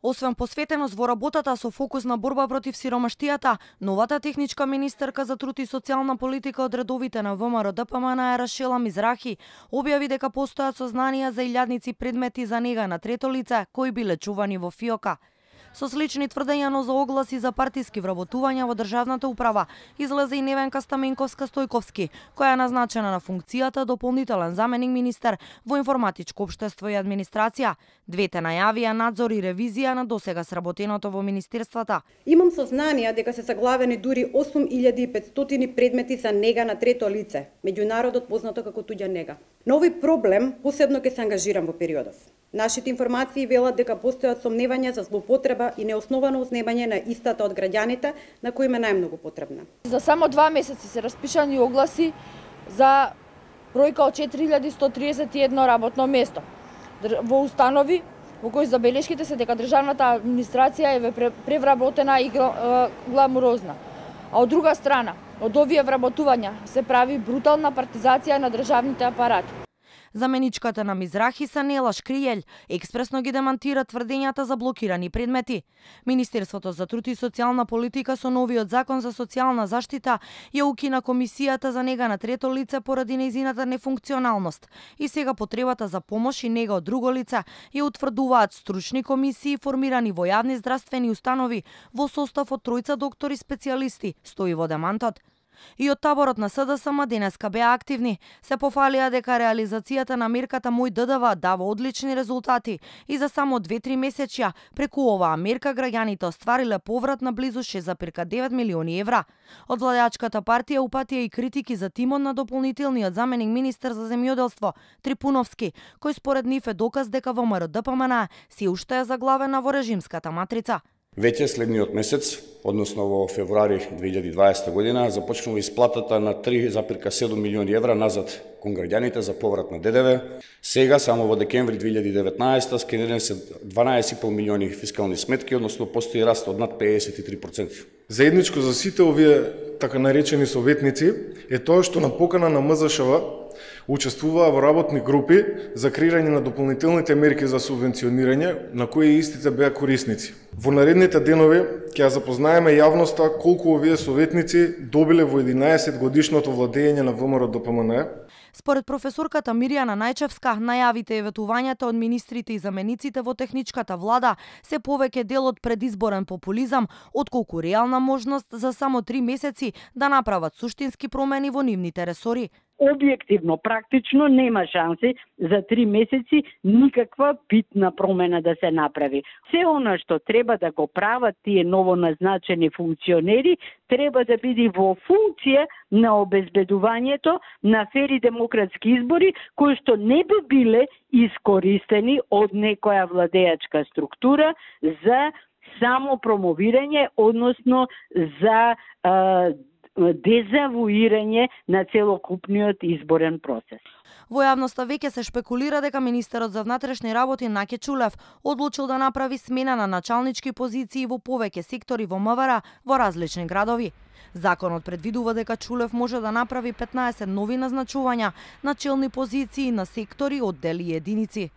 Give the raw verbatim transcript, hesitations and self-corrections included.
Освен посветеност во работата со фокус на борба против сиромаштијата, новата техничка министерка за труд и социјална политика од редовите на ВМРО Д П М Н Рашела Мизрахи објави дека постојат сознанија за илјадници предмети за нега на трето лице кои биле чувани во ФИОКа. Со слични тврдења, но за огласи за партиски вработувања во државната управа, излезе и Невенка Стаменковска-Стојковски, која е назначена на функцијата дополнителен заменик министер во информатичко општество и администрација. Двете најавија надзор и ревизија на досега сработеното во министерствата. Имам сознанија дека се заглавени дури осум илјади и петстотини предмети за нега на трето лице, меѓународот познато како туѓа нега. На овој проблем посебно ќе се ангажирам во периодов. Нашите информации велат дека постојат сомневања за злоупотреба и неосновано узнемање на истата од граѓаните на кои им е најмногу потребна. За само два месеци се распишани огласи за бројка од четири илјади сто триесет и едно работно место во установи во кои забелешките се дека државната администрација е превработена и гламурозна. А од друга страна, од овие вработувања се прави брутална партизација на државните апарати. Заменичката на Мизрахи Санела Шкријел експресно ги демантира тврдењата за блокирани предмети. Министерството за труд и социјална политика со новиот закон за социјална заштита ја укина комисијата за нега на трето лице поради нејзината нефункционалност и сега потребата за помош и нега од друго лице ја утврдуваат стручни комисии формирани во јавни здравствени установи во состав од тројца доктори специјалисти, стои во демантот. И од таборот на С Д С М денеска беа активни, се пофалија дека реализацијата на мерката Мој Д Д В дава одлични резултати и за само две-три месечја преку оваа мерка граѓаните оствариле поврат на близу шест зарез девет милиони евра. Од владеачката партија упатија и критики за тимот на дополнителниот заменик министер за земјоделство Трипуновски, кој според нив е доказ дека Во М R Д П М Н си уште е заглавена во режимската матрица. Веќе следниот месец, односно во февруари две илјади и дваесета година, започнува исплатата на три зарез седум милиони евра назад кон граѓаните за поврат на Д Д В. Сега, само во декември две илјади и деветнаесета, скенирани се дванаесет и пол милиони фискални сметки, односно постои раст од над педесет и три проценти. Заедничко за сите овие така наречени советници е тоа што на покана на М З Ш В учествуваа во работни групи за креирање на дополнителните мерки за субвенционирање на кои истите беа корисници. Во наредните денови ќе ја запознаеме јавноста колку овие советници добиле во единаесет годишното владење на Во М R Д П М Н. Според професорката Мирјана Најчевска, најавите и ветувањата од министрите и замениците во техничката влада се повеќе дел од предизборен популизам, отколку реална можност за само три месеци да направат суштински промени во нивните ресори. Објективно, практично нема шанси за три месеци никаква битна промена да се направи. Се она што треба да го прават тие новоназначени функционери треба да биде во функција на обезбедувањето на фери демократски избори кои што не би биле искористени од некоја владеачка структура за само промовирање, односно за а, дезавуирање на целокупниот изборен процес. Во јавноста веќе се шпекулира дека министерот за внатрешни работи Наке Чулев одлучил да направи смена на началнички позиции во повеќе сектори во М В Р во различни градови. Законот предвидува дека Чулев може да направи петнаесет нови назначувања на челни позиции на сектори, оддели и единици.